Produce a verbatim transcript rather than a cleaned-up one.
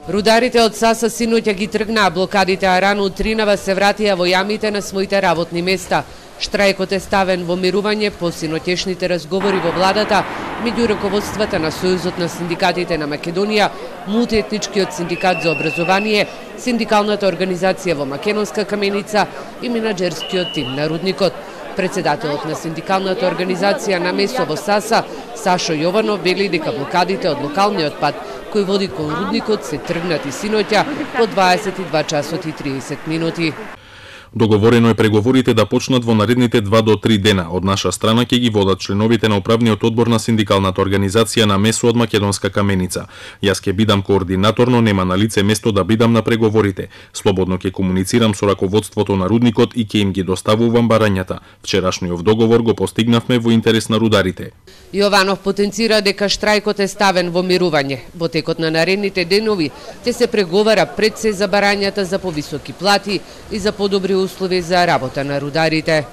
Рударите од САСА синоќа ги тргнаа блокадите, а рано утринава се вратија во јамите на своите работни места. Штрајкот е ставен во мирување по синоќешните разговори во владата меѓу раководствата на Сојузот на синдикатите на Македонија, Мултиетничкиот синдикат за образование, синдикалната организација во Македонска каменица и менаџерскиот тим на рудникот. Председателот на синдикалната организација на место во САСА, Сашо Јованов, вели дека блокадите од локалниот пат кој води кон рудникот се тргнати синоќа по дваесет и два часот и триесет минути. Договорено е преговорите да почнат во наредните два до три дена. Од наша страна ќе ги водат членовите на управниот одбор на синдикалната организација на МЕСО од Македонска каменица. Јас ќе бидам координатор, но нема на лице место да бидам на преговорите. Слободно ќе комуницирам со раководството на рудникот и ќе им ги доставувам барањата. Вчерашниот договор го постигнавме во интерес на рударите. Јованов потенцира дека штрајкот е ставен во мирување. Во текот на наредните денови ќе се преговара пред се за барањата за повисоки плати и за подобри услови за работа на рударите.